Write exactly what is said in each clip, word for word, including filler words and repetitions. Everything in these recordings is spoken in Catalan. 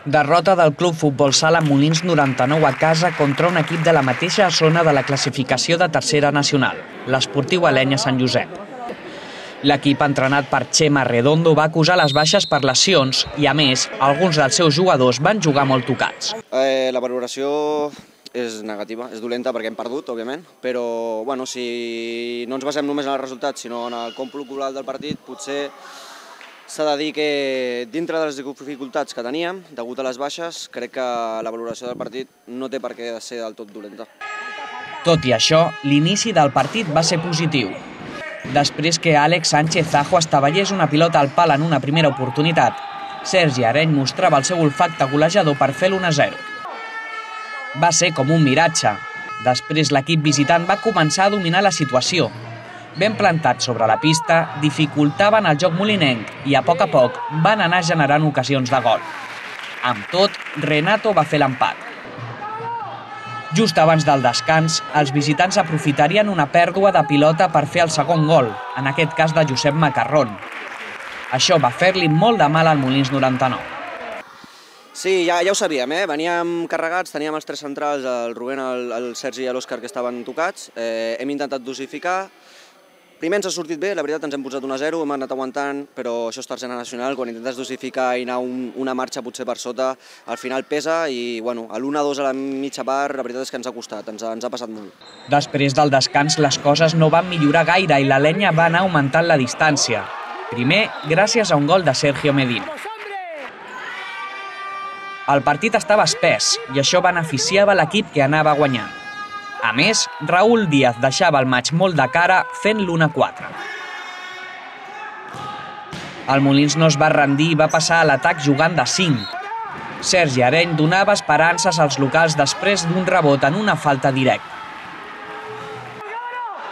Derrota del Club Futbol Sala Molins noranta-nou a casa contra un equip de la mateixa zona de la classificació de tercera nacional, l'Esportiu Alenya Sant Josep. L'equip entrenat per Chema Redondo va acusar les baixes per lesions i, a més, alguns dels seus jugadors van jugar molt tocats. Eh, la valoració és negativa, és dolenta perquè hem perdut, òbviament, però bueno, si no ens basem només en els resultats, sinó en el còmput global del partit, potser s'ha de dir que dintre de les dificultats que teníem, degut a les baixes, crec que la valoració del partit no té per què ser del tot dolenta. Tot i això, l'inici del partit va ser positiu. Després que Àlex Sánchez Zajo estavellés una pilota al pal en una primera oportunitat, Sergi Areny mostrava el seu olfacte golejador per fer l'u a zero. Va ser com un miratge. Després l'equip visitant va començar a dominar la situació. Ben plantats sobre la pista, dificultaven el joc molinenc i a poc a poc van anar generant ocasions de gol. Amb tot, Renato va fer l'empat. Just abans del descans, els visitants aprofitarien una pèrdua de pilota per fer el segon gol, en aquest cas de Josep Macarrón. Això va fer-li molt de mal al Molins noranta-nou. Sí, ja, ja ho sabíem, eh? Veníem carregats, teníem els tres centrals, el Rubén, el, el Sergi i l'Òscar, que estaven tocats. Eh, hem intentat dosificar. Primer ens ha sortit bé, la veritat ens hem posat un a zero, hem anat aguantant, però això és tercera nacional, quan intentes dosificar i anar un, una marxa potser per sota, al final pesa i bueno, a l'u a dos a la mitja part, la veritat és que ens ha costat, ens ha, ens ha passat molt. Després del descans les coses no van millorar gaire i l'Alenya va anar augmentant la distància. Primer, gràcies a un gol de Sergio Medina. El partit estava espès i això beneficiava l'equip que anava guanyant. A més, Raúl Díaz deixava el maig molt de cara fent l'u a quatre. El Molins no es va rendir i va passar a l'atac jugant de cinc. Sergi Areny donava esperances als locals després d'un rebot en una falta directa.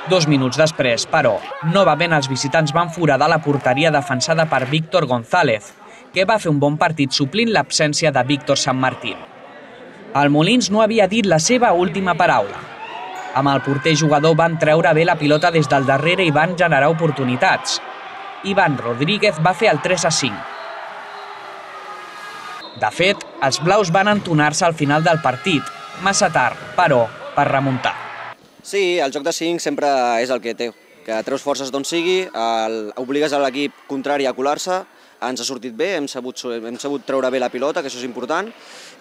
Dos minuts després, però, novament els visitants van foradar la porteria defensada per Víctor González, que va fer un bon partit suplint l'absència de Víctor San Martín. El Molins no havia dit la seva última paraula. Amb el porter jugador van treure bé la pilota des del darrere i van generar oportunitats. Iván Rodríguez va fer el tres a cinc. De fet, els blaus van entonar-se al final del partit, massa tard, però, per remuntar. Sí, el joc de cinc sempre és el que té, que treus forces d'on sigui, el, obligues a l'equip contrari a colar-se, ens ha sortit bé, hem sabut, hem sabut treure bé la pilota, que això és important,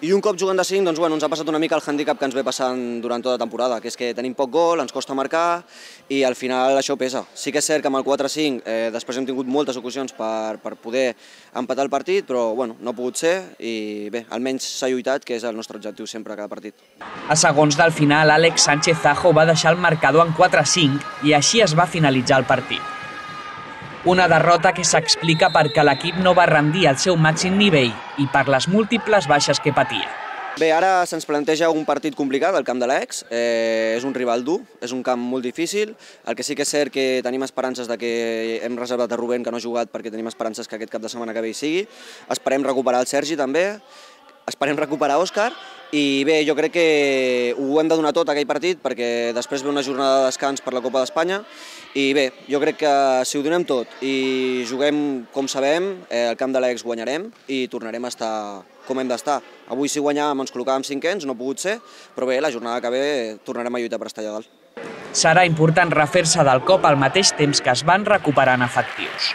i un cop jugant de cinc doncs, bueno, ens ha passat una mica el hàndicap que ens ve passant durant tota la temporada, que és que tenim poc gol, ens costa marcar i al final això pesa. Sí que és cert que amb el quatre a cinc eh, després hem tingut moltes ocasions per, per poder empatar el partit, però bueno, no ha pogut ser i bé, almenys s'ha lluitat, que és el nostre objectiu sempre a cada partit. A segons del final, Àlex Sánchez Zajo va deixar el marcador en quatre a cinc i així es va finalitzar el partit. Una derrota que s'explica perquè l'equip no va rendir al seu màxim nivell i per les múltiples baixes que patia. Bé, ara se'ns planteja un partit complicat al camp de l'Ex, eh, és un rival dur, és un camp molt difícil, el que sí que és cert que tenim esperances de que hem reservat a Rubén, que no ha jugat, perquè tenim esperances que aquest cap de setmana que ve hi sigui, esperem recuperar el Sergi també, esperem recuperar Òscar, i bé, jo crec que ho hem de donar tot aquell partit perquè després ve una jornada de descans per la Copa d'Espanya i bé, jo crec que si ho donem tot i juguem com sabem, eh, al camp de l'Ex guanyarem i tornarem a estar com hem d'estar. Avui si guanyàvem ens col·locàvem cinquens, no ha pogut ser, però bé, la jornada que ve tornarem a lluitar per estar allà dalt. Serà important refer-se del cop al mateix temps que es van recuperant efectius.